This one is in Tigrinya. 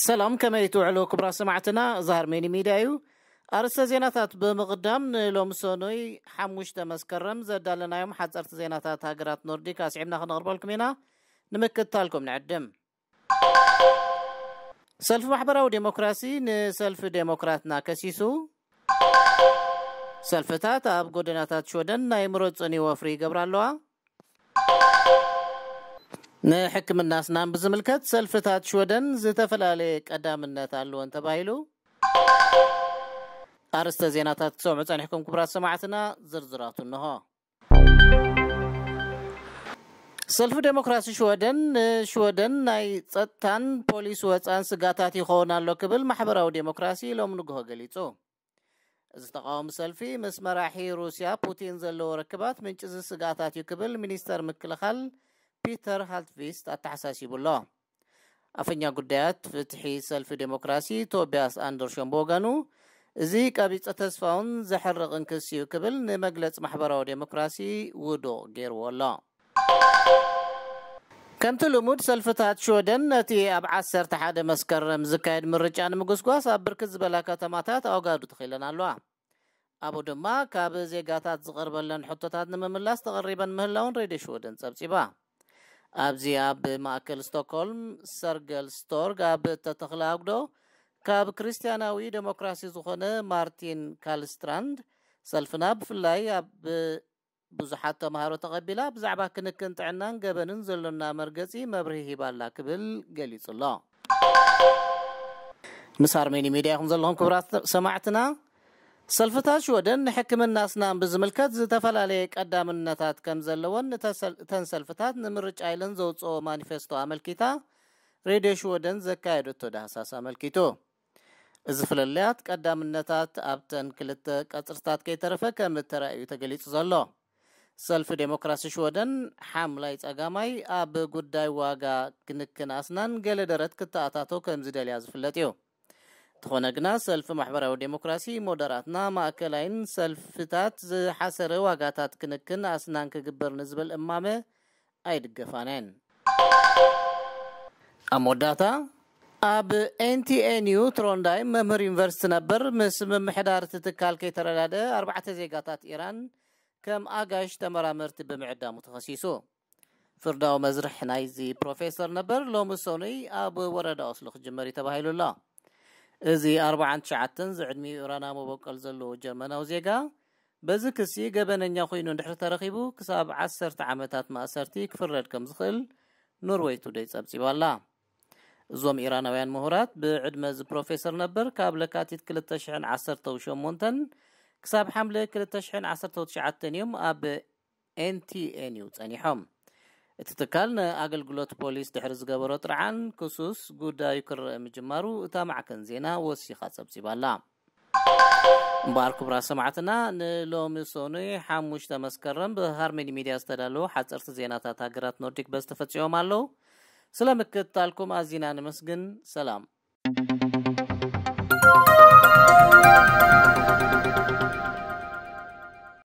ሰላም፣ ከመይ ትውዕሉ ክቡራት ሰማዕትና? እዚ ሃርሜኒ ሚድያ እዩ። ኣርእስተ ዜናታት ብምቕዳም፣ ንሎሚ ሰኑይ ሓሙሽተ መስከረም ዘዳለናዮም ሓፀርቲ ዜናታት ሃገራት ኖርዲክ ኣስዒብና ክነቕርበልኩም ኢና። ንምክትታልኩም ንዕድም። ሰልፊ ማሕበራዊ ዴሞክራሲ ንሰልፊ ዴሞክራትና ከሲሱ። ሰልፍታት ኣብ ጎደናታት ሽወደን ናይ ምረጹኒ ወፍሪ ይገብራ ኣለዋ። ንሕክምና ኣስናን ብዝምልከት ሰልፍታት ሽወደን ዝተፈላለየ ቀዳምነት ኣለወን ተባሂሉ። ኣርእስተ ዜናታት ክሰምዑ ጸኒሕኩም ክቡራት ሰማዕትና፣ ዝርዝራቱ እንሆ። ሰልፊ ዴሞክራሲ ሽወደን ንሽወደን ናይ ጸጥታን ፖሊስ ወጻን ስጋታት ይኸውን ኣሎ ክብል ማሕበራዊ ዴሞክራሲ ሎም ንግሆ ገሊጹ። እዚ ተቃዋሚ ሰልፊ ምስ መራሒ ሩስያ ፑቲን ዘለዎ ርክባት ምንጪ እዚ ስጋታት እዩ ክብል ሚኒስተር ምክልኻል ፒተር ሃልትቪስት ኣተሓሳሲቡ ኣሎ። ኣፈኛ ጉዳያት ፍትሒ ሰልፊ ዴሞክራሲ ቶቢያስ ኣንደርሾን ብወገኑ፣ እዚ ቀቢጸ ተስፋውን ዘሕርቕን ክሲ እዩ ክብል ንመግለጺ ማሕበራዊ ዴሞክራሲ ውዱቕ ገይርዎ ኣሎ። ከምቲ ልሙድ ሰልፍታት ሽወደን ነቲ ኣብ ዓሰርተ ሓደ መስከረም ዝካየድ ምርጫ ንምጉስጓስ ኣብ ብርክት ዝበላ ከተማታት ኣውጋዱ ተኺለን ኣለዋ። ኣብኡ ድማ ካብ ዜጋታት ዝቐርበለን ሕቶታት ንምምላስ ተቐሪበን ምህላውን ሬድዮ ሽወደን ጸብጺባ። ኣብዚ ኣብ ማእከል ስቶክሆልም ሰርገል ስቶርግ ኣብ እተተኽለ ኣጉዶ ካብ ክርስትያናዊ ዴሞክራሲ ዝኾነ ማርቲን ካልስትራንድ፣ ሰልፍና ብፍላይ ኣብ ብዙሓት ተምሃሮ ተቐቢላ ብዛዕባ ክንክን ጥዕናን ገበንን ዘሎና መርገጺ መብርሂ ሂባላ ክብል ገሊጹ ኣሎ። ምስ ኣርሜኒ ሚድያ ኢኹም ዘለኹም ክቡራት ሰማዕትና። ሰልፍታት ሽወደን ንሕክምና ኣስናን ብዝምልከት ዝተፈላለየ ቀዳምነታት ከም ዘለወን እተሰል-፣ እተን ሰልፍታት ንምርጫ ኢለን ዘውፅኦ ማኒፌስቶ ኣመልኪታ ሬድዮ ሽወደን ዘካየደቶ ዳህሳስ ኣመልኪቱ። እዚ ፍልልያት ቀዳምነታት ኣብተን ክልተ ቀጽርታት ከይተረፈ ከም እተራእዩ ተገሊጹ ዘሎ። ሰልፊ ዴሞክራሲ ሽወደን ሓምላይ ጸጋማይ ኣብ ጉዳይ ዋጋ ክንክን ኣስናን ገለ ደረት ክተኣታቶ ከም ዝደልያ ዝፍለጥ እዩ። እንተኾነ ግና ሰልፊ ማሕበራዊ ዴሞክራሲ ሞደራትና ማእከላይን ሰልፍታት ዝሓሰረ ዋጋታት ክንክን ኣስናን ክግበር ንዝብል እማመ ኣይድገፋን እየን። ኣብ መወዳእታ ኣብ ኤንቲኤንዩ ትሮንዳይ መምህር ዩኒቨርሲቲ ነበር ምስ ምምሕዳር እቲ ትካል ከይተረዳደ ኣርባዕተ ዜጋታት ኢራን ከም ኣጋሽ ተመራመርቲ ብምዕዳሙ ተኸሲሱ። ፍርዳዊ መዝርሕ ናይዚ ፕሮፌሰር ነበር ሎሚ ሰኑይ ኣብ ወረዳ ኦስሎ ክጅመር እዩ ተባሂሉ ኣሎ። እዚ ኣርባዓን ትሽዓተን ዝዕድሚኡ ኢራናዊ መበቆል ዘለዎ ጀርመናዊ ዜጋ በዚ ክሲ ገበነኛ ኮይኑ እንድሕር ተረኺቡ ክሳብ ዓሰርተ ዓመታት ማእሰርቲ ክፍረድ ከም ዝኽእል ኖርወይ ቱደይ ጸብጺባ ኣላ። እዞም ኢራናውያን ምሁራት ብዕድመ እዚ ፕሮፌሰር ነበር ካብ ለካቲት ክልተ ሽሕን ዓሰርተው ሸሞንተን ክሳብ ሓምለ ክልተ ሽሕን ዓሰርተው ትሽዓተን እዮም ኣብ ኤንቲኤንዩ ጸኒሖም። እቲ ትካል ንኣገልግሎት ፖሊስ ድሕሪ ዝገበሮ ጥርዓን ክሱስ ጉዳዩ ክረአ ምጅማሩ እታ ማዕከን ዜና ወሲኻ ጸብጺባ ኣላ። እምበኣር ክቡራት ሰማዕትና፣ ንሎሚ ሰኑይ ሓሙሽተ መስከረም ብሃርመኒ ሚድያ ዝተዳለዉ ሓጸርቲ ዜናታት ሃገራት ኖርዲክ በዚ ተፈጺሞም ኣለዉ። ስለ ምክትታልኩም ኣዚና ነመስግን። ሰላም።